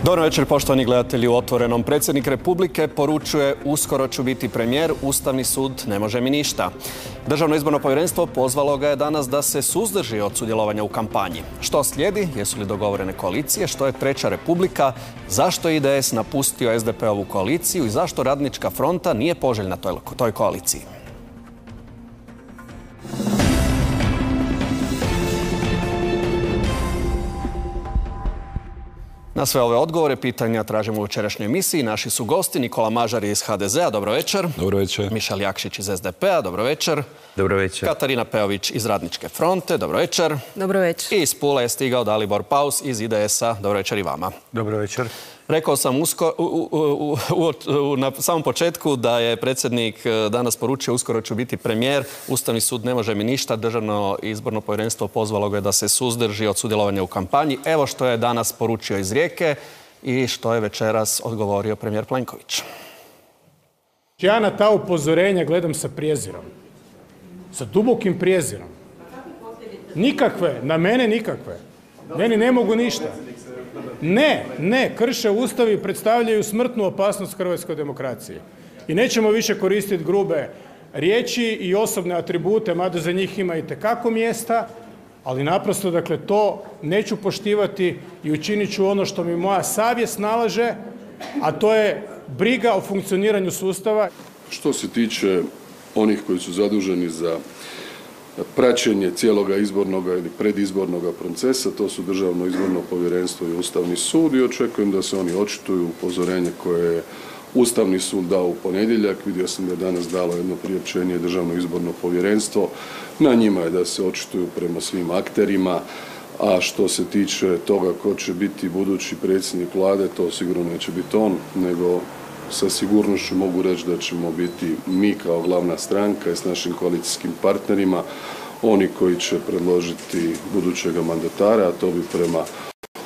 Dobro večer, poštovani gledatelji u Otvorenom. Predsjednik Republike poručuje: uskoro ću biti premijer, Ustavni sud ne može mi ništa. Državno izborno povjerenstvo pozvalo ga je danas da se suzdrži od sudjelovanja u kampanji. Što slijedi? Jesu li dogovorene koalicije? Što je Treća Republika? Zašto je IDS napustio SDP-ovu koaliciju i zašto Radnička fronta nije poželjna toj koaliciji? Na sve ove odgovore, pitanja tražimo u večerašnjoj emisiji. Naši su gosti Nikola Mažar iz HDZ-a, dobro večer. Dobro večer. Mišel Jakšić iz SDP-a, dobro večer. Dobro večer. Katarina Peović iz Radničke fronte, dobro večer. Dobro večer. I iz Pule je stigao Dalibor Paus iz IDS-a, dobro večer i vama. Dobro večer. Rekao sam na samom početku da je predsjednik danas poručio: uskoro ću biti premijer, Ustavni sud ne može mi ništa, Državno izborno povjerenstvo pozvalo ga je da se suzdrži od sudjelovanja u kampanji. Evo što je danas poručio iz Rijeke i što je večeras odgovorio premijer Plenković. Ja na ta upozorenja gledam sa prijezirom, sa dubokim prijezirom. Nikakve, na mene nikakve. Meni ne mogu ništa. Ne, krše Ustav i predstavljaju smrtnu opasnost hrvatskoj demokraciji. I nećemo više koristiti grube riječi i osobne atribute, mada za njih ima itekako mjesta, ali naprosto, dakle, to neću poštivati i učinit ću ono što mi moja savjest nalaže, a to je briga o funkcioniranju sustava. Što se tiče onih koji su zaduženi za praćenje cijeloga izbornoga ili predizbornoga procesa, to su Državno izborno povjerenstvo i Ustavni sud, i očekujem da se oni očituju. Upozorenje koje je Ustavni sud dao u ponedjeljak, vidio sam da je danas dalo jedno priopćenje Državno izborno povjerenstvo, na njima je da se očituju prema svim akterima. A što se tiče toga ko će biti budući predsjednik vlade, to sigurno neće biti on, nego sa sigurnošću mogu reći da ćemo biti mi kao glavna stranka i s našim koalicijskim partnerima oni koji će predložiti budućega mandatara, a to bi prema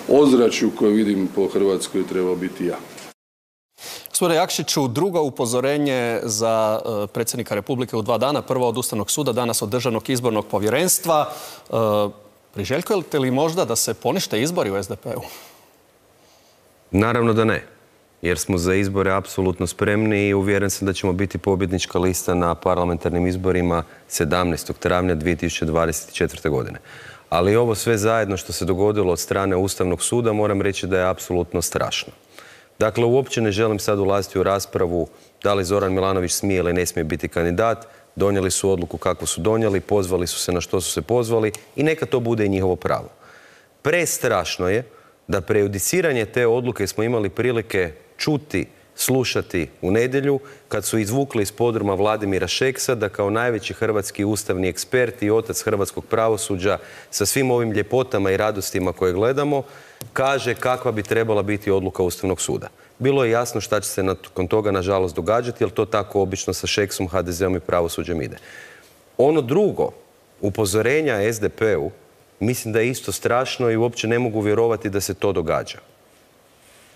ozračju koje vidim po Hrvatskoj trebao biti ja. Gospodine Jakšiću, drugo upozorenje za predsjednika Republike u 2 dana, prvo od Ustavnog suda, danas od Državnog izbornog povjerenstva. Priželjkujete li možda da se ponište izbori u SDP-u? Naravno da ne, jer smo za izbore apsolutno spremni i uvjeren sam da ćemo biti pobjednička lista na parlamentarnim izborima 17. travnja 2024. godine. Ali ovo sve zajedno što se dogodilo od strane Ustavnog suda, moram reći da je apsolutno strašno. Dakle, uopće ne želim sad ulaziti u raspravu da li Zoran Milanović smije ili ne smije biti kandidat. Donijeli su odluku kako su donijeli, pozvali su se na što su se pozvali i neka to bude i njihovo pravo. Prestrašno je da prejudiciranje te odluke smo imali prilike čuti, slušati u nedjelju kad su izvukli iz podruma Vladimira Šeksa da kao najveći hrvatski ustavni ekspert i otac hrvatskog pravosuđa sa svim ovim ljepotama i radostima koje gledamo kaže kakva bi trebala biti odluka Ustavnog suda. Bilo je jasno šta će se nakon toga nažalost događati, jer to tako obično sa Šeksom, HDZ-om i pravosuđem ide. Ono drugo, upozorenja SDP-u, mislim da je isto strašno i uopće ne mogu vjerovati da se to događa.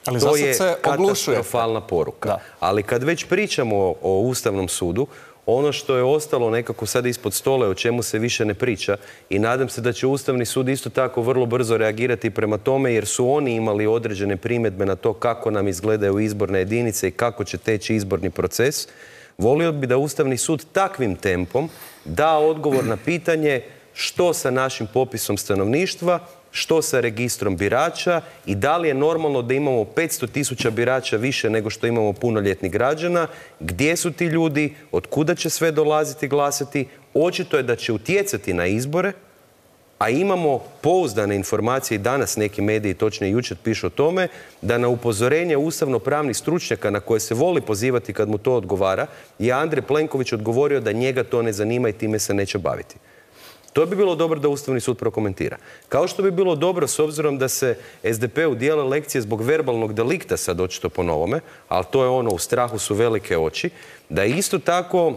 Ali to je se katastrofalna poruka. Da. Ali kad već pričamo o Ustavnom sudu, ono što je ostalo nekako sad ispod stola, o čemu se više ne priča, i nadam se da će Ustavni sud isto tako vrlo brzo reagirati prema tome, jer su oni imali određene primjedbe na to kako nam izgledaju izborne jedinice i kako će teći izborni proces. Volio bi da Ustavni sud takvim tempom da odgovor na pitanje što sa našim popisom stanovništva, što sa registrom birača i da li je normalno da imamo 500.000 birača više nego što imamo punoljetnih građana, gdje su ti ljudi, od kuda će sve dolaziti glasati. Očito je da će utjecati na izbore, a imamo pouzdane informacije i danas neki mediji, točnije jučer, pišu o tome da na upozorenje ustavno-pravnih stručnjaka na koje se voli pozivati kad mu to odgovara je Andrej Plenković odgovorio da njega to ne zanima i time se neće baviti. To bi bilo dobro da Ustavni sud prokomentira. Kao što bi bilo dobro, s obzirom da se SDP-u dijele lekcije zbog verbalnog delikta, sad očito po novome, ali to je ono, u strahu su velike oči, da isto tako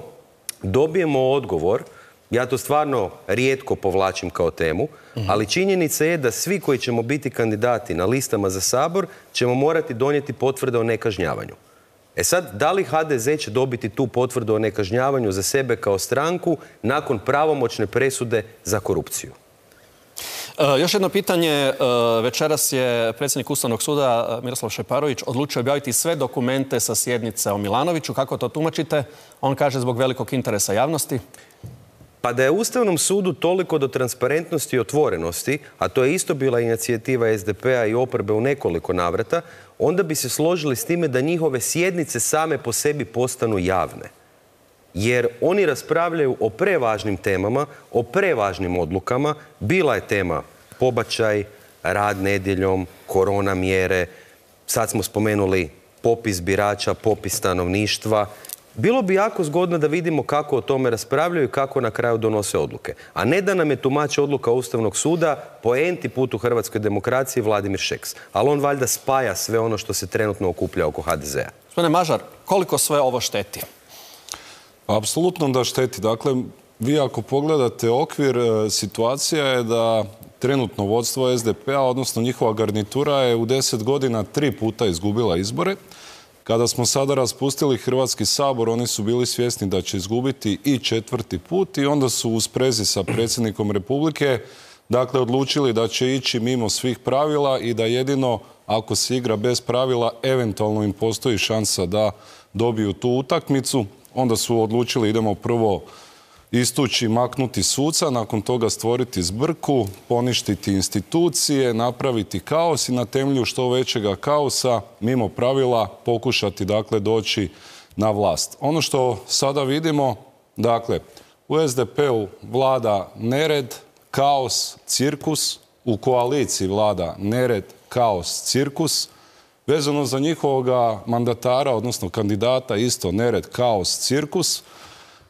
dobijemo odgovor. Ja to stvarno rijetko povlačim kao temu, ali činjenica je da svi koji ćemo biti kandidati na listama za Sabor ćemo morati donijeti potvrde o nekažnjavanju. E sad, da li HDZ će dobiti tu potvrdu o nekažnjavanju za sebe kao stranku nakon pravomoćne presude za korupciju? Još jedno pitanje. Večeras je predsjednik Ustavnog suda Miroslav Šeparović odlučio objaviti sve dokumente sa sjednice o Milanoviću. Kako to tumačite? On kaže zbog velikog interesa javnosti. Pa da je Ustavnom sudu toliko do transparentnosti i otvorenosti, a to je isto bila inicijativa SDP-a i oporbe u nekoliko navrata, onda bi se složili s time da njihove sjednice same po sebi postanu javne. Jer oni raspravljaju o prevažnim temama, o prevažnim odlukama. Bila je tema pobačaj, rad nedjeljom, korona mjere, sad smo spomenuli popis birača, popis stanovništva. Bilo bi jako zgodno da vidimo kako o tome raspravljaju i kako na kraju donose odluke. A ne da nam je tumač odluka Ustavnog suda po enti put u hrvatskoj demokraciji Vladimir Šeks. Ali on valjda spaja sve ono što se trenutno okuplja oko HDZ-a. Gospodine Mažar, koliko sve ovo šteti? Apsolutno da šteti. Dakle, vi ako pogledate okvir, situacija je da trenutno vodstvo SDP-a, odnosno njihova garnitura, je u 10 godina 3 puta izgubila izbore. Kada smo sada raspustili Hrvatski sabor, oni su bili svjesni da će izgubiti i 4. put i onda su u sprezi sa predsjednikom Republike odlučili da će ići mimo svih pravila i da jedino ako se igra bez pravila, eventualno im postoji šansa da dobiju tu utakmicu. Onda su odlučili idemo prvo istući, maknuti suca, nakon toga stvoriti zbrku, poništiti institucije, napraviti kaos i na temelju što većega kaosa, mimo pravila, pokušati doći na vlast. Ono što sada vidimo, u SDP-u vlada nered, kaos, cirkus, u koaliciji vlada nered, kaos, cirkus. Vezano za njihovoga mandatara, odnosno kandidata, isto nered, kaos, cirkus.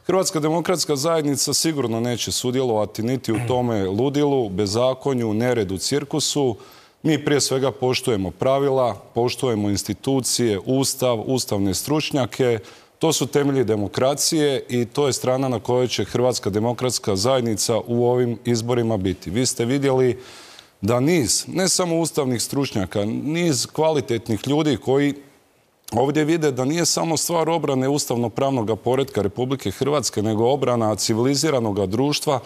Hrvatska demokratska zajednica sigurno neće sudjelovati niti u tome ludilu, bezakonju, neredu, cirkusu. Mi prije svega poštujemo pravila, poštujemo institucije, ustav, ustavne stručnjake. To su temelji demokracije i to je strana na kojoj će Hrvatska demokratska zajednica u ovim izborima biti. Vi ste vidjeli da niz, ne samo ustavnih stručnjaka, niz kvalitetnih ljudi koji ovdje vide da nije samo stvar obrane ustavno-pravnog poretka Republike Hrvatske, nego obrana civiliziranog društva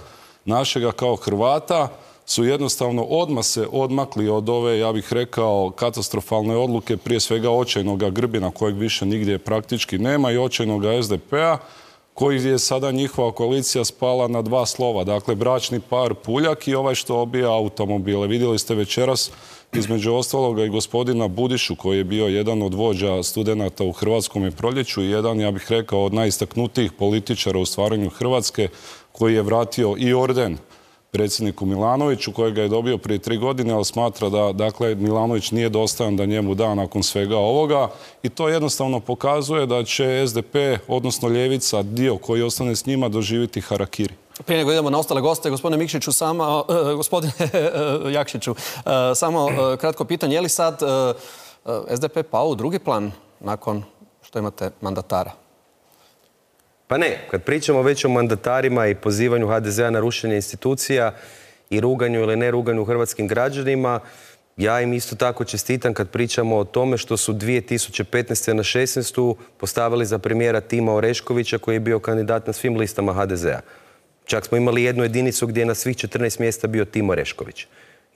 našega kao Hrvata, su jednostavno odmah se odmakli od ove, ja bih rekao, katastrofalne odluke, prije svega očajnog Grbina, kojeg više nigdje praktički nema, i očajnog SDP-a, koji je sada njihova koalicija spala na 2 slova. Dakle, bračni par Puljak i ovaj što obija automobile. Vidjeli ste večeras između ostaloga i gospodina Budišu, koji je bio jedan od vođa studenata u Hrvatskom proljeću i jedan, ja bih rekao, od najistaknutijih političara u stvaranju Hrvatske, koji je vratio i orden predsjedniku Milanoviću, kojega je dobio prije 3 godine, ali smatra da Milanović nije dostojan da njemu da nakon svega ovoga. I to jednostavno pokazuje da će SDP, odnosno ljevica, dio koji ostane s njima, doživjeti harakiri. Prije nego idemo na ostale goste, gospodine Jakšiću, samo kratko pitanje. Je li sad SDP pao u drugi plan nakon što imate mandatara? Pa ne, kad pričamo već o mandatarima i pozivanju HDZ-a na rušenje institucija i ruganju ili ne ruganju hrvatskim građanima, ja im isto tako čestitam kad pričamo o tome što su 2015. na 16. postavili za premijera Tima Oreškovića, koji je bio kandidat na svim listama HDZ-a. Čak smo imali jednu jedinicu gdje je na svih 14 mjesta bio Tim Orešković.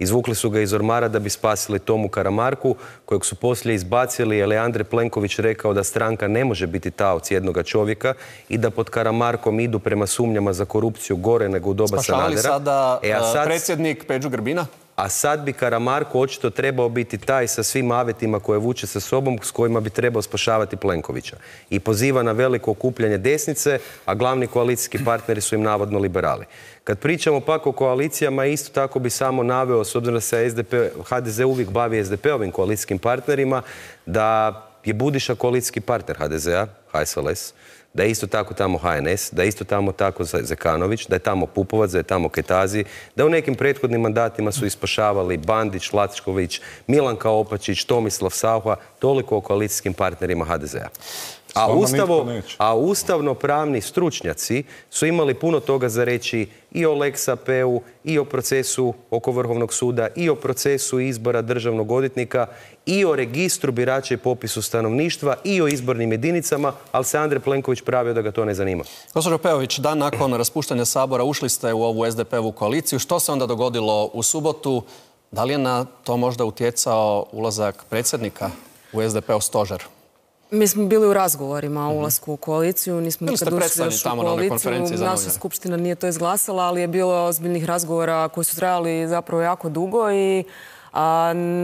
Izvukli su ga iz ormara da bi spasili Tomu Karamarku, kojeg su poslije izbacili jer je Andrej Plenković rekao da stranka ne može biti taoc jednoga čovjeka i da pod Karamarkom idu prema sumnjama za korupciju gore nego u doba Sanadera. Spašavali sada predsjednik Peđu Grbina? A sad bi Karamarko očito trebao biti taj sa svim avetima koje vuče sa sobom, s kojima bi trebao spašavati Plenkovića. I poziva na veliko okupljanje desnice, a glavni koalicijski partneri su im navodno liberali. Kad pričamo pak o koalicijama, isto tako bi samo naveo, s obzirom da se HDZ uvijek bavi SDP-ovim koalicijskim partnerima, da je Budiša koalicijski partner HDZ-a, HSLS, da je isto tako tamo HNS, da je isto tamo tako Zekanović, da je tamo Pupovac, da je tamo Ketazi, da u nekim prethodnim mandatima su ispašavali Bandić, Lacković, Milanka Opačić, Tomislav Saucha, toliko o koalicijskim partnerima HDZ-a. A ustavno-pravni stručnjaci su imali puno toga za reći i o Lex AP-u, i o procesu oko Vrhovnog suda, i o procesu izbora državnog odvjetnika, i o registru birača i popisu stanovništva, i o izbornim jedinicama, ali se Andrej Plenković pravio da ga to ne zanima. Gospođo Peović, dan nakon raspuštanja Sabora ušli ste u ovu SDP-ovu koaliciju. Što se onda dogodilo u subotu? Da li je na to možda utjecao ulazak predsjednika u SDP-ov stožer? Mi smo bili u razgovorima o ulasku u koaliciju, nismo nikad ušli još u koaliciju. Naša skupština nije to izglasala, ali je bilo ozbiljnih razgovora koji su trajali zapravo jako dugo i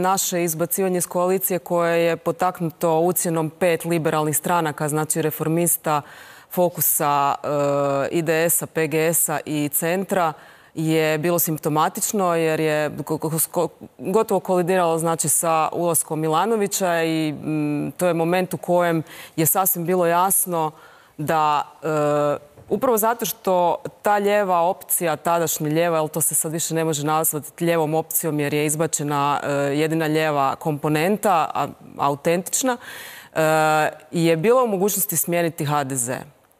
naše izbacivanje iz koalicije koje je potaknuto ucjenom 5 liberalnih stranaka, znači Reformista, Fokusa, IDS-a, PGS-a i Centra, je bilo simptomatično jer je gotovo kolidiralo znači sa ulaskom Milanovića i to je moment u kojem je sasvim bilo jasno da upravo zato što ta lijeva opcija, tadašnja lijeva, ali to se sad više ne može nazvati lijevom opcijom jer je izbačena jedina lijeva komponenta, autentična, je bila u mogućnosti smijeniti HDZ.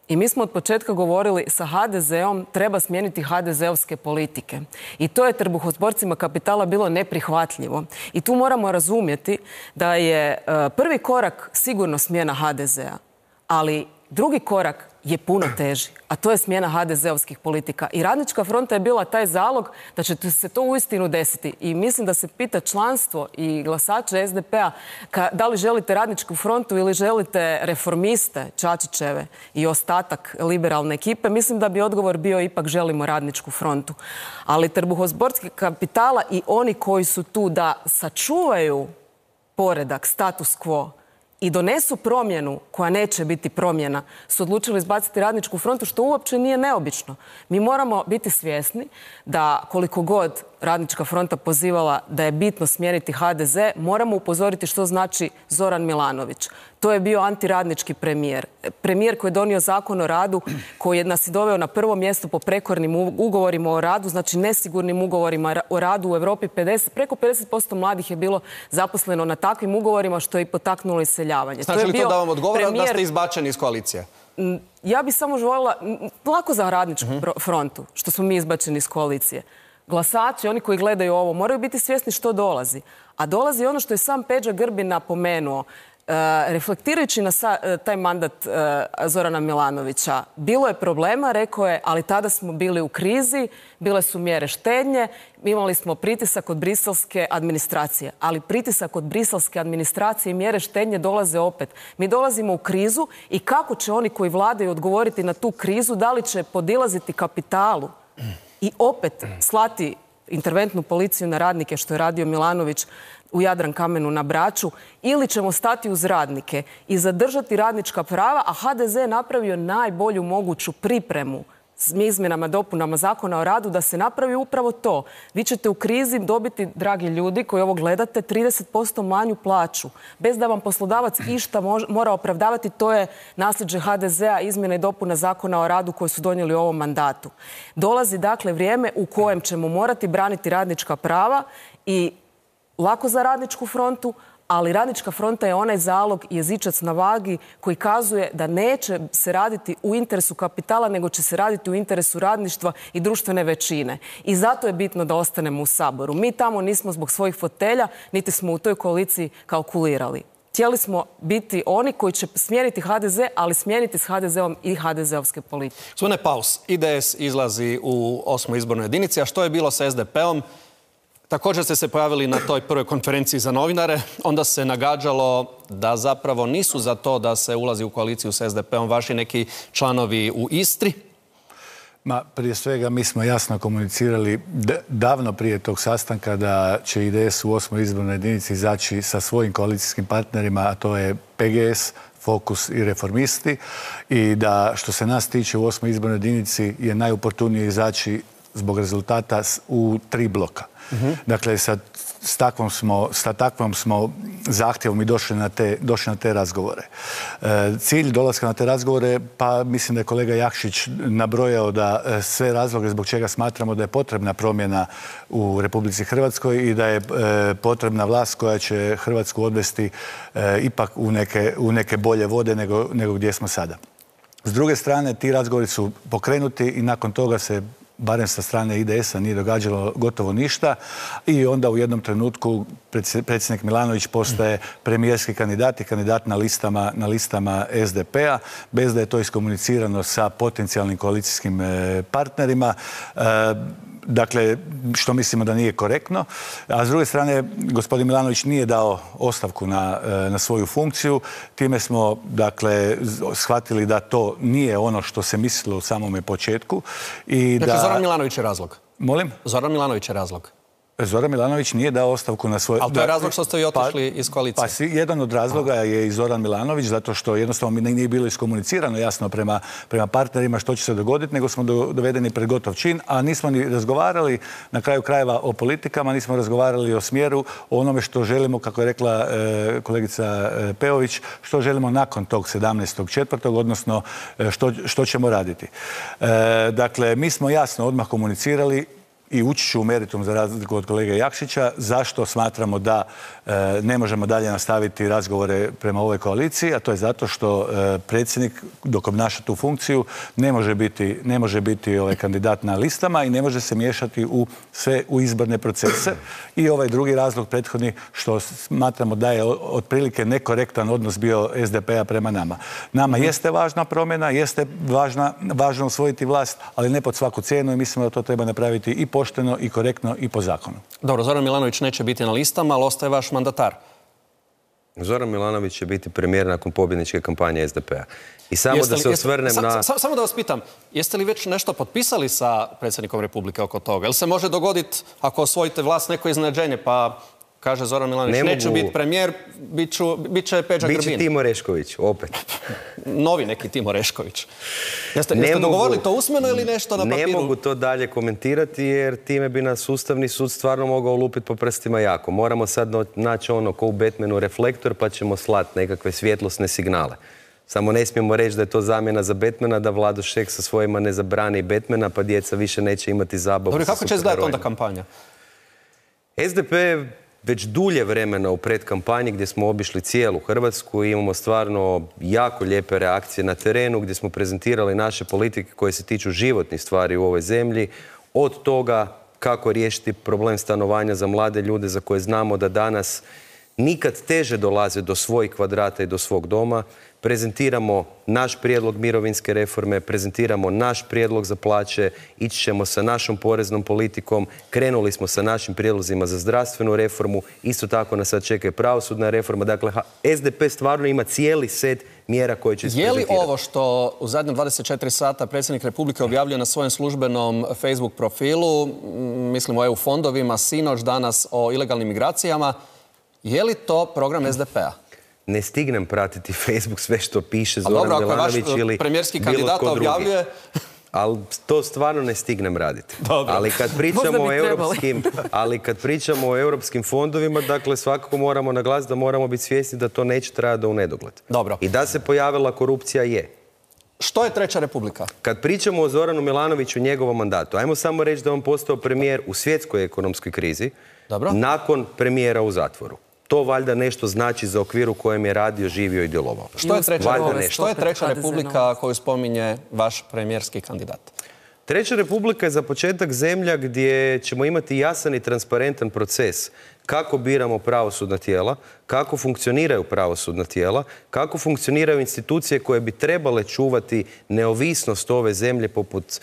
I mi smo od početka govorili sa HDZ-om treba smijeniti HDZ-ovske politike. I to je trbuhozborcima kapitala bilo neprihvatljivo. I tu moramo razumjeti da je prvi korak sigurno smjena HDZ-a, ali drugi korak je puno teži, a to je smjena HDZ-ovskih politika. I Radnička fronta je bila taj zalog da će se to uistinu desiti. I mislim da se pita članstvo i glasače SDP-a da li želite Radničku frontu ili želite Reformiste, Čačićeve i ostatak liberalne ekipe. Mislim da bi odgovor bio ipak želimo Radničku frontu. Ali trbuhozborski kapitala i oni koji su tu da sačuvaju poredak, status quo, i donesu promjenu koja neće biti promjena, su odlučili izbaciti Radničku frontu, što uopće nije neobično. Mi moramo biti svjesni da koliko god Radnička fronta pozivala da je bitno smijeniti HDZ, moramo upozoriti što znači Zoran Milanović. To je bio antiradnički premijer. Premijer koji je donio zakon o radu, koji nas je doveo na prvo mjesto po prekornim ugovorima o radu, znači nesigurnim ugovorima o radu u Europi. Preko 50% mladih je bilo zaposleno na takvim ugovorima, što je i potaknulo iseljavanje. Znači li to da vam odgovara da ste izbačeni iz koalicije? Ja bih samo željela, lako za Radničku frontu, što smo mi izbačeni iz koalicije. Glasači, oni koji gledaju ovo, moraju biti svjesni što dolazi. A dolazi ono što je sam Peđa Grbin napomenuo, reflektirajući na taj mandat Zorana Milanovića. Bilo je problema, rekao je, ali tada smo bili u krizi, bile su mjere štednje, imali smo pritisak od briselske administracije. Ali pritisak od briselske administracije i mjere štednje dolaze opet. Mi dolazimo u krizu i kako će oni koji vladaju odgovoriti na tu krizu, da li će podilaziti kapitalu i opet slati interventnu policiju na radnike, što je radio Milanović u Jadrankamenu na Braču, ili ćemo stati uz radnike i zadržati radnička prava, a HDZ je napravio najbolju moguću pripremu s izmjenama, dopunama zakona o radu da se napravi upravo to. Vi ćete u krizi dobiti, dragi ljudi koji ovo gledate, 30% manju plaću. Bez da vam poslodavac išta mora opravdavati, to je nasljeđe HDZ-a, izmjene i dopuna zakona o radu koji su donijeli u ovom mandatu. Dolazi dakle vrijeme u kojem ćemo morati braniti radnička prava i lako za Radničku frontu, ali Radnička fronta je onaj zalog i jezičac na vagi koji kazuje da neće se raditi u interesu kapitala, nego će se raditi u interesu radništva i društvene većine. I zato je bitno da ostanemo u Saboru. Mi tamo nismo zbog svojih fotelja, niti smo u toj koaliciji kalkulirali. Htjeli smo biti oni koji će smijeniti HDZ, ali smijeniti s HDZ-om i HDZ-ovske politike. Gospodine Paus, IDS izlazi u 8. izbornoj jedinici, a što je bilo sa SDP-om? Također ste se pojavili na toj prvoj konferenciji za novinare. Onda se nagađalo da zapravo nisu za to da se ulazi u koaliciju s SDP-om vaši neki članovi u Istri. Prije svega mi smo jasno komunicirali davno prije tog sastanka da će IDS u 8. izbornoj jedinici izaći sa svojim koalicijskim partnerima, a to je PGS, Fokus i Reformisti, i da što se nas tiče u 8. izbornoj jedinici je najuportunije izaći zbog rezultata u 3 bloka. Dakle, sa takvom smo zahtjevom i došli na te razgovore. Cilj dolaska na te razgovore, pa mislim da je kolega Jakšić nabrojao da sve razloge zbog čega smatramo da je potrebna promjena u Republici Hrvatskoj i da je potrebna vlast koja će Hrvatsku odvesti ipak u neke bolje vode nego gdje smo sada. S druge strane, ti razgovori su pokrenuti i nakon toga se barem sa strane IDS-a nije događalo gotovo ništa i onda u jednom trenutku predsjednik Milanović postaje premijerski kandidat i kandidat na listama SDP-a bez da je to iskomunicirano sa potencijalnim koalicijskim partnerima. Dakle, što mislimo da nije korektno. A s druge strane, gospodin Milanović nije dao ostavku na svoju funkciju. Time smo, dakle, shvatili da to nije ono što se mislilo u samome početku. Dakle, Zoran Milanović je razlog? Molim? Zoran Milanović je razlog? Zoran Milanović nije dao ostavku na svoje... Ali to je razlog što ste i otišli iz koalicije? Pa jedan od razloga je i Zoran Milanović, zato što jednostavno nije bilo iskomunicirano jasno prema partnerima što će se dogoditi, nego smo dovedeni pred gotov čin, a nismo ni razgovarali na kraju krajeva o politikama, nismo razgovarali o smjeru, o onome što želimo, kako je rekla kolegica Peović, što želimo nakon tog 17.4., odnosno što ćemo raditi. Dakle, mi smo jasno odmah komunicirali i ući ću u meritum za razliku od kolege Jakšića, zašto smatramo da ne možemo dalje nastaviti razgovore prema ovoj koaliciji, a to je zato što predsjednik dok obnaša tu funkciju ne može biti kandidat na listama i ne može se miješati u izborne procese. I ovaj drugi razlog prethodni što smatramo da je otprilike nekorektan odnos bio SDP-a prema nama. Nama jeste važna promjena, jeste važno osvojiti vlast, ali ne pod svaku cijenu i mislimo da to treba napraviti i pošteno i korektno i po zakonu. Dobro, Zoran Milanović neće biti na listama, ali ostaje vaš mandatar. Zoran Milanović će biti premijer nakon pobjedničke kampanje SDP-a. I samo da se osvrnem na... Samo da vas pitam, jeste li već nešto potpisali sa predsjednikom Republike oko toga? Jel se može dogoditi, ako osvojite vlast, neko iznenađenje, pa kaže Zoran Milanović, neću biti premijer, bit će Peđa Grbin. Biće Timo Orešković, opet. Novi neki Timo Orešković. Jeste dogovorili to usmeno ili nešto na papiru? Ne mogu to dalje komentirati jer time bi nas Ustavni sud stvarno mogao lupiti po prstima jako. Moramo sad naći ono ko u Batmanu reflektor pa ćemo slati nekakve svjetlosne signale. Samo ne smijemo reći da je to zamjena za Batmana, da Vlado Šeks sa svojima ne zabrani Batmana pa djeca više neće imati zabavu. Dobro, kako će izgledati onda kampanja? SDP već dulje vremena u predkampanji gdje smo obišli cijelu Hrvatsku i imamo stvarno jako lijepe reakcije na terenu gdje smo prezentirali naše politike koje se tiču životnih stvari u ovoj zemlji. Od toga kako riješiti problem stanovanja za mlade ljude za koje znamo da danas nikad teže dolaze do svojih kvadrata i do svog doma. Prezentiramo naš prijedlog mirovinske reforme, prezentiramo naš prijedlog za plaće, ići ćemo sa našom poreznom politikom, krenuli smo sa našim prijedlozima za zdravstvenu reformu, isto tako nas sad čeka i pravosudna reforma. Dakle, SDP stvarno ima cijeli set mjera koje će isprezentirati. Je li ovo što u zadnjem 24 sata predsjednik Republike objavljuje na svojem službenom Facebook profilu, mislim o EU fondovima, sinoć, danas o ilegalnim migracijama, je li to program SDP-a? Ne stignem pratiti Facebook sve što piše Zoran Milanović ili bilo tko drugi. Dobro, ako je vaš premijerski kandidat objavljuje... Ali to stvarno ne stignem raditi. Ali kad pričamo o europskim fondovima, dakle svakako moramo naglasiti da moramo biti svjesni da to neće trajati do u nedogled. Dobro. I da se pojavila korupcija je. Što je Treća Republika? Kad pričamo o Zoranu Milanoviću i njegovom mandatu, ajmo samo reći da on postao premijer u svjetskoj ekonomskoj krizi, nakon premijera u zatvoru. To valjda nešto znači za okvir u kojem je radio, živio i djelovao. Što je Treća Republika koju spominje vaš premijerski kandidat? Treća Republika je za početak zemlja gdje ćemo imati jasan i transparentan proces kako biramo pravosudna tijela, kako funkcioniraju pravosudna tijela, kako funkcioniraju institucije koje bi trebale čuvati neovisnost ove zemlje poput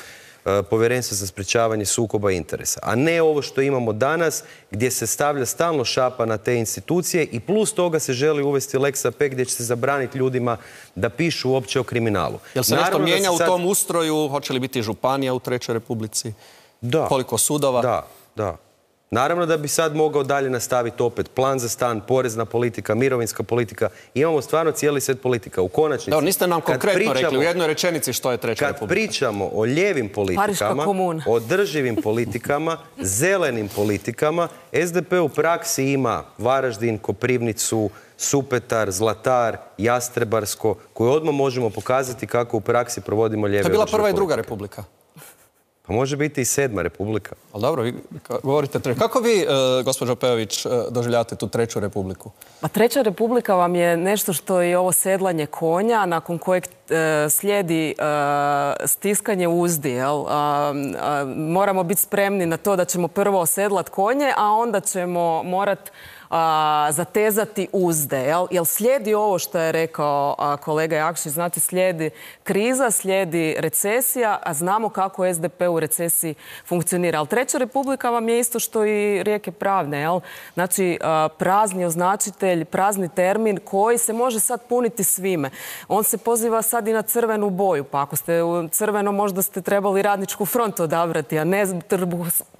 Povjerenstva za sprječavanje sukoba interesa. A ne ovo što imamo danas gdje se stavlja stalno šapa na te institucije i plus toga se želi uvesti Lex AP gdje će se zabraniti ljudima da pišu uopće o kriminalu. Jel se nešto mijenja u tom ustroju? Hoće li biti županija u Trećoj Republici? Da. Koliko sudova? Da. Naravno da bi sad mogao dalje nastaviti opet plan za stan, porezna politika, mirovinska politika. Imamo stvarno cijeli set politika. U konačnici... Da, niste nam konkretno rekli u jednoj rečenici što je Treća Republika. Kad pričamo o lijevim politikama, održivim politikama, zelenim politikama, SDP u praksi ima Varaždin, Koprivnicu, Supetar, Zlatar, Jastrebarsko, koje odmah možemo pokazati kako u praksi provodimo lijeve. To je bila prva i druga republika. Pa može biti i 7. republika. Ali dobro, vi govorite treću. Kako vi, gospođo Pejović, doživljavate tu Treću republiku? Pa Treća republika vam je nešto što je ovo sedlanje konja, nakon kojeg slijedi stiskanje uzdi. Moramo biti spremni na to da ćemo prvo osedlat konje, a onda ćemo morati zatezati uzde. Jel slijedi ovo što je rekao kolega Jakšić, znate, slijedi kriza, slijedi recesija, a znamo kako SDP u recesiji funkcionira. Ali Treća republika vam je isto što i rijeke pravne. Znači, prazni označitelj, prazni termin koji se može sad puniti svime. On se poziva sad i na crvenu boju, pa ako ste u crveno možda ste trebali Radničku frontu odabrati, a ne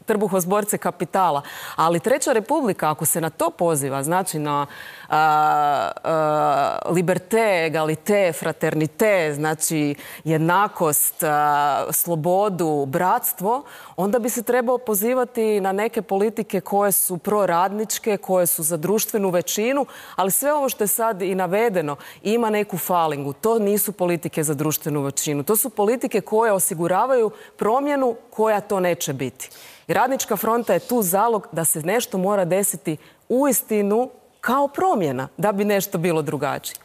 trbuhozborce kapitala. Ali Treća republika, ako se na to poziva, znači na liberté, egalité, fraternité, znači jednakost, slobodu, bratstvo, onda bi se trebao pozivati na neke politike koje su proradničke, koje su za društvenu većinu, ali sve ovo što je sad i navedeno ima neku falingu. To nisu politike za društvenu većinu. To su politike koje osiguravaju promjenu koja to neće biti. I Radnička fronta je tu zalog da se nešto mora desiti uistinu kao promjena, da bi nešto bilo drugačije.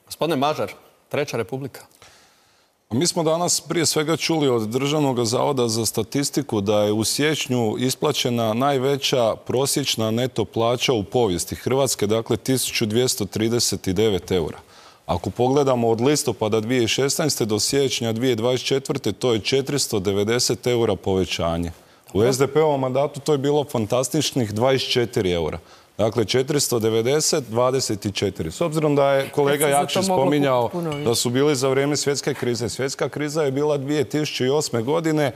Gospodine Mažar, Treća republika. Mi smo danas prije svega čuli od Državnog zavoda za statistiku da je u siječnju isplaćena najveća prosječna neto plaća u povijesti Hrvatske, dakle 1239 eura. Ako pogledamo od listopada 2016. do siječnja 2024. to je 490 eura povećanje. U SDP-ovom mandatu to je bilo fantastičnih 24 eura. Dakle, 490, 24. S obzirom da je kolega Jakšić spominjao da su bili za vrijeme svjetske krize. Svjetska kriza je bila 2008. godine.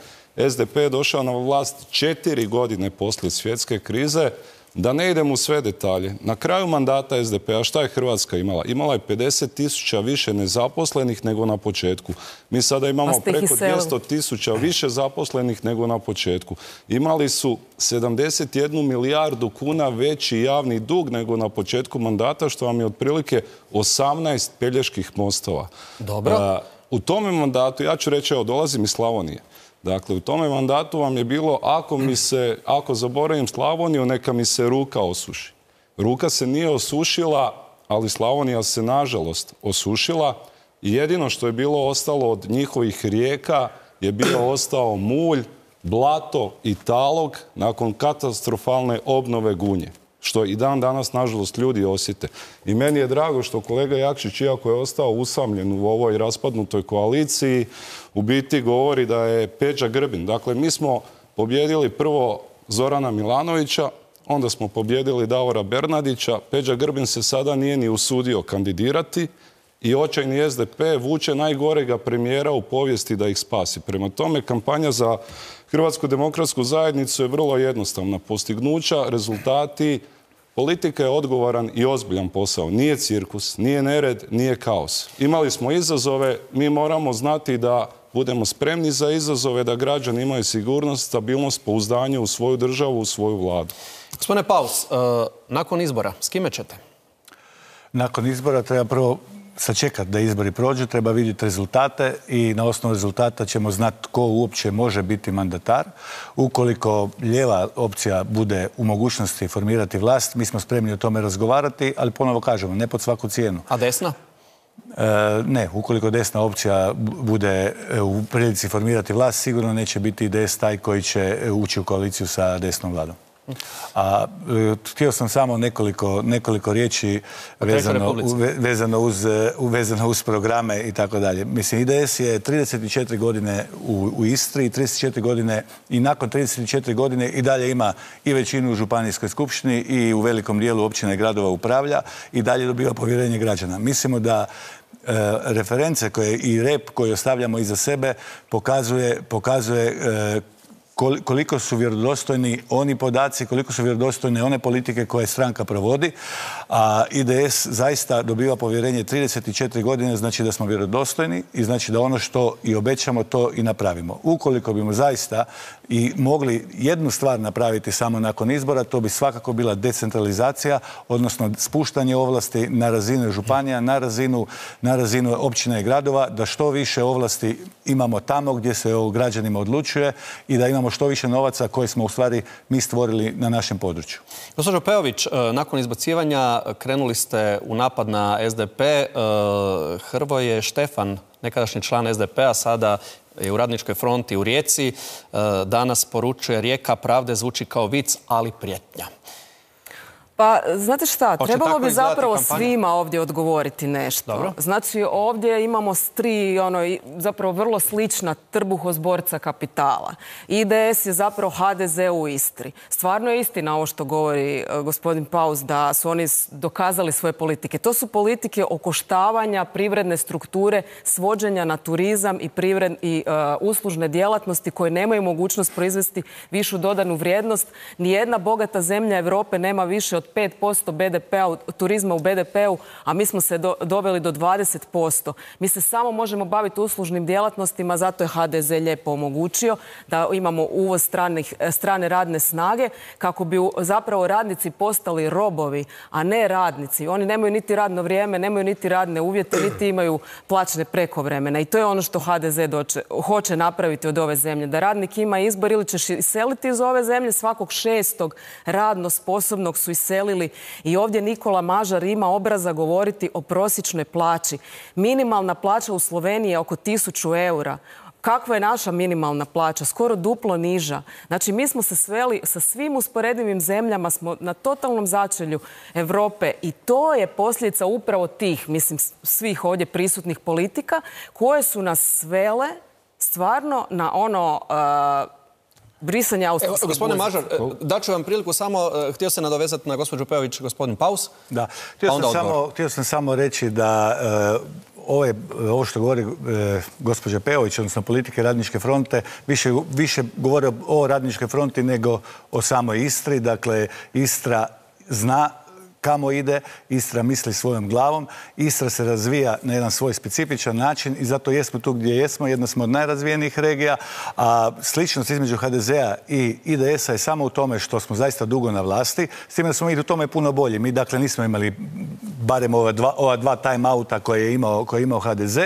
SDP je došao na vlast 4 godine poslije svjetske krize. Da ne idem u sve detalje. Na kraju mandata SDP-a šta je Hrvatska imala? Imala je 50.000 više nezaposlenih nego na početku. Mi sada imamo preko 200.000 više zaposlenih nego na početku. Imali su 71 milijardu kuna veći javni dug nego na početku mandata, što vam je otprilike 18 Peljeških mostova. Dobro. U tome mandatu, ja ću reći, evo, dolazim iz Slavonije. Dakle, u tome mandatu vam je bilo, ako zaboravim Slavoniju, neka mi se ruka osuši. Ruka se nije osušila, ali Slavonija se, nažalost, osušila. I jedino što je bilo ostalo od njihovih rijeka je bio ostao mulj, blato i talog nakon katastrofalne obnove Gunje. Što i dan danas, nažalost, ljudi osjete. I meni je drago što kolega Jakšić, iako je ostao usamljen u ovoj raspadnutoj koaliciji, u biti govori da je Peđa Grbin. Dakle, mi smo pobjedili prvo Zorana Milanovića, onda smo pobjedili Davora Bernardića. Peđa Grbin se sada nije ni usudio kandidirati i očajni SDP vuče najgorega premijera u povijesti da ih spasi. Prema tome, kampanja za Hrvatsku demokratsku zajednicu je vrlo jednostavna. Postignuća, rezultati. Politika je odgovoran i ozbiljan posao. Nije cirkus, nije nered, nije kaos. Imali smo izazove, mi moramo znati da budemo spremni za izazove, da građani imaju sigurnost, stabilnost, pouzdanje u svoju državu, u svoju vladu. Gospodine Paus, nakon izbora, s kime ćete? Nakon izbora treba prvo sačekati da izbori prođu, treba vidjeti rezultate i na osnovu rezultata ćemo znati tko uopće može biti mandatar. Ukoliko lijeva opcija bude u mogućnosti formirati vlast, mi smo spremni o tome razgovarati, ali ponovo kažemo, ne pod svaku cijenu. A desna? Ne, ukoliko desna opcija bude u prilici formirati vlast, sigurno neće biti IDS taj koji će ući u koaliciju sa desnom vladom. A htio sam samo nekoliko riječi vezano uz programe i tako dalje. Mislim, IDS je 34 godine u Istri, 34 godine i nakon 34 godine i dalje ima i većinu u županijskoj skupštini i u velikom dijelu općina i gradova upravlja i dalje dobiva povjerenje građana. Mislimo da reference i rep koji ostavljamo iza sebe pokazuje koliko su vjerodostojni oni podaci, koliko su vjerodostojne one politike koje stranka provodi. A IDS zaista dobiva povjerenje 34 godine, znači da smo vjerodostojni i znači da ono što i obećamo to i napravimo. Ukoliko bimo zaista i mogli jednu stvar napraviti samo nakon izbora, to bi svakako bila decentralizacija, odnosno spuštanje ovlasti na razinu županija, na razinu općina i gradova, da što više ovlasti imamo tamo gdje se o građanima odlučuje i da imamo što više novaca koje smo u stvari mi stvorili na našem području. Gospođo Peović, nakon izbacivanja krenuli ste u napad na SDP. Hrvoje Štefan, nekadašnji član SDP-a, sada je u Radničkoj fronti u Rijeci. Danas poručuje: Rijeka pravde zvuči kao vic, ali prijetnja. Pa, znate šta, trebalo bi zapravo svima ovdje odgovoriti nešto. Dobro. Znači, ovdje imamo tri, zapravo vrlo slična trbuhozborca kapitala. IDS je zapravo HDZ u Istri. Stvarno je istina ovo što govori gospodin Paus, da su oni dokazali svoje politike. To su politike okoštavanja privredne strukture, svođenja na turizam i uslužne djelatnosti koje nemaju mogućnost proizvesti višu dodanu vrijednost. Nijedna bogata zemlja Europe nema više od 5% BDP-a, turizma u BDP-u, a mi smo se doveli do 20%. Mi se samo možemo baviti uslužnim djelatnostima, zato je HDZ lijepo omogućio da imamo uvoz strane radne snage, kako bi zapravo radnici postali robovi, a ne radnici. Oni nemaju niti radno vrijeme, nemaju niti radne uvjete, niti imaju plaćne prekovremene. I to je ono što HDZ hoće napraviti od ove zemlje. Da radnik ima izbor, ili ćeš iseliti iz ove zemlje, svakog 6. radno sposobnog su iselili. I ovdje Nikola Mažar ima obraza govoriti o prosječnoj plaći. Minimalna plaća u Sloveniji je oko 1000 eura. Kakva je naša minimalna plaća? Skoro duplo niža. Znači, mi smo se sveli sa svim usporedivim zemljama, smo na totalnom začelju Europe i to je posljedica upravo tih, mislim, svih ovdje prisutnih politika koje su nas svele stvarno na brisanje austrijskog. Gospodine Mažar, daću vam priliku samo, htio se nadovezati na gospođu Peović, gospodin Paus. Da, htio sam samo reći da ovo što govori gospođa Peović, odnosno politike Radničke fronte, više govore o Radničkoj fronti nego o samoj Istri. Dakle, Istra zna kamo ide, Istra misli svojom glavom, Istra se razvija na jedan svoj specifičan način i zato jesmo tu gdje jesmo, jedna smo od najrazvijenijih regija, a sličnost između HDZ-a i IDS-a je samo u tome što smo zaista dugo na vlasti, s time da smo mi u tome puno bolji. Mi dakle nismo imali barem ova dva time-outa koje je imao HDZ,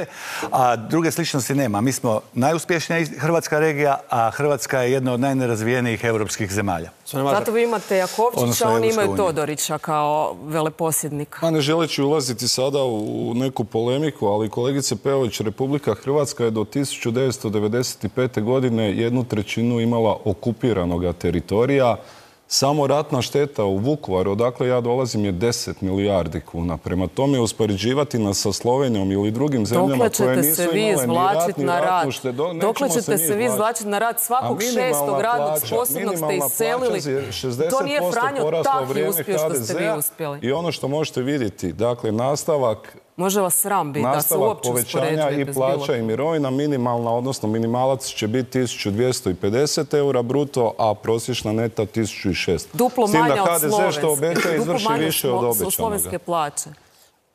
a druge sličnosti nema. Mi smo najuspješnija hrvatska regija, a Hrvatska je jedna od najnerazvijenijih europskih zemalja. Zato vi imate Jakovčića, oni imaju Todorića kao veleposjednika. Pa ne želeći ulaziti sada u neku polemiku, ali kolegice Peović, Republika Hrvatska je do 1995. godine 1/3 imala okupiranoga teritorija. Samo ratna šteta u Vukovaru, odakle ja dolazim, je 10 milijardi kuna. Prema tome, uspoređivati nas sa Slovenijom ili drugim zemljama koje nisu imale ni ratnu štetu. Dokle ćete se vi izvlačiti na rad? Svakog 6. radnog sposobnog ste iselili. To nije Franjo Tahi uspio što ste vi uspjeli. I ono što možete vidjeti, dakle, nastavak može vas sram biti da se uopće povećanja i plaća i mirovina, minimalna, odnosno minimalac će biti 1250 eura bruto, a prosječna neta 1600. Duplo manja od HDZ što obeća izvrši više od obećanoga. Slovenske plaće.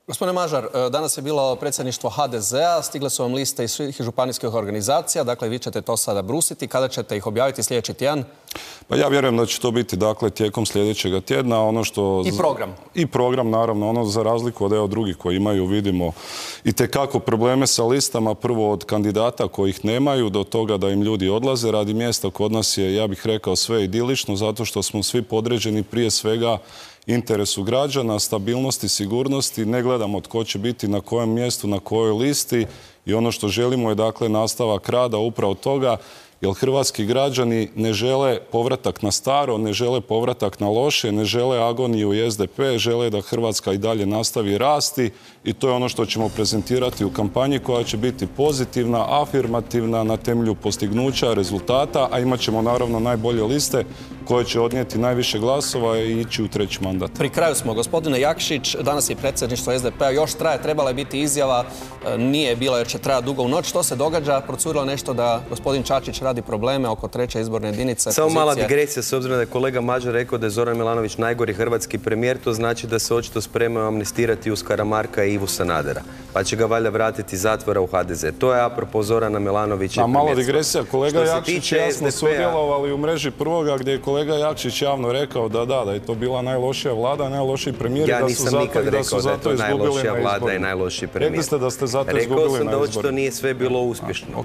Gospodine Mažar, danas je bilo predsjedništvo HDZ-a, stigle su vam liste iz svih županijskih organizacija, dakle vi ćete to sada brusiti. Kada ćete ih objaviti sljedeći tjedan? Pa ja vjerujem da će to biti dakle tijekom sljedećega tjedna. I program? I program, naravno. Ono za razliku od drugih koji imaju, vidimo itekako probleme sa listama. Prvo od kandidata kojih nemaju, do toga da im ljudi odlaze radi mjesta. Kod nas je, ja bih rekao, sve idilično, zato što smo svi podređeni prije svega interesu građana, stabilnosti, sigurnosti. Ne gledamo tko će biti na kojem mjestu, na kojoj listi i ono što želimo je dakle nastavak rada upravo toga, jer hrvatski građani ne žele povratak na staro, ne žele povratak na loše, ne žele agoniju i SDP, žele da Hrvatska i dalje nastavi rasti i to je ono što ćemo prezentirati u kampanji koja će biti pozitivna, afirmativna na temelju postignuća, rezultata, a imat ćemo naravno najbolje liste koje će odnijeti najviše glasova i ići u treći mandat. Pri kraju smo. Gospodine Jakšić, danas je predsjedništvo SDP-a, još traje, trebala je biti izjava, nije bila jer će trajati dugo u noć. Što se događa? Procurilo nešto da gospodin Čačić radi radi probleme oko 3. izborne jedinice. Samo mala digresija, s obzirom da je kolega Mađar rekao da je Zoran Milanović najgori hrvatski premijer, to znači da se očito spremaju amnestirati uz Karamarka i Ivu Sanadera. Pa će ga valjda vratiti iz zatvora u HDZ. To je apropo Zorana Milanovića. A mala digresija, kolega Jakšić i ja smo sudjelovali u mreži Prvoga gdje je kolega Jakšić javno rekao da je to bila najlošija vlada, najlošiji premijer i da su zato izgubili na izborima. Najlošiji premijer. Rekli ste da ste zato izgubili na izborima. Rekao sam da očito nije sve bilo uspješno.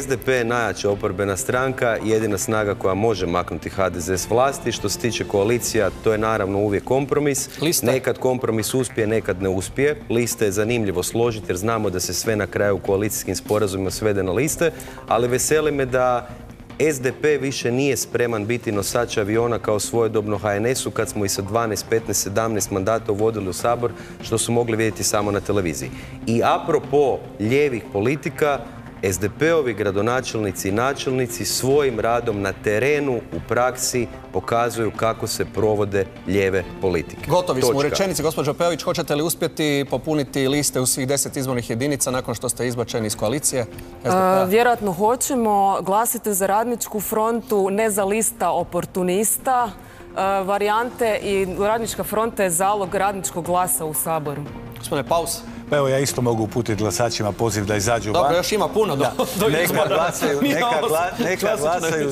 SDP je najjača oporbena stranka, jedina snaga koja može maknuti HDZ s vlasti. Što se tiče koalicija, to je naravno uvijek kompromis. Nekad kompromis uspije, nekad ne uspije. Liste je zanimljivo složiti jer znamo da se sve na kraju u koalicijskim sporazumima svede na liste, ali veseli me da SDP više nije spreman biti nosač aviona kao svojedobno HNS-u kad smo i sa 12, 15, 17 mandata uvodili u Sabor, što su mogli vidjeti samo na televiziji. I apropo lijevih politika, SDP-ovi gradonačelnici i načelnici svojim radom na terenu u praksi pokazuju kako se provode lijeve politike. Gotovi smo u rečenici. Gospođo Peović, hoćete li uspjeti popuniti liste u svih 10 izbornih jedinica nakon što ste izbačeni iz koalicije? Vjerojatno hoćemo. Glasite za Radničku frontu, ne za lista oportunista. Varijante i Radnička fronta je zalog radničkog glasa u Saboru. Gospodine Paus. Pa evo, ja isto mogu uputiti glasačima poziv da izađu van. Dobro, još ima puno do Neka glasaju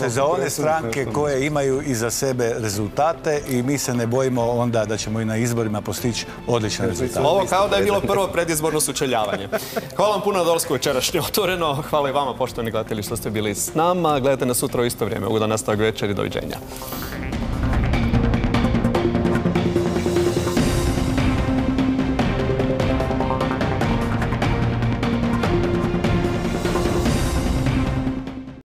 za one stranke koje imaju iza sebe rezultate i mi se ne bojimo onda da ćemo i na izborima postići odlične rezultate. Ovo kao da je bilo prvo predizborno sučeljavanje. Hvala vam puno na dolasku večerašnje Otvoreno. Hvala i vama, poštovani gledatelji, što ste bili s nama. Gledajte nas sutra u isto vrijeme. Ugodan nastavak večeri. Doviđenja.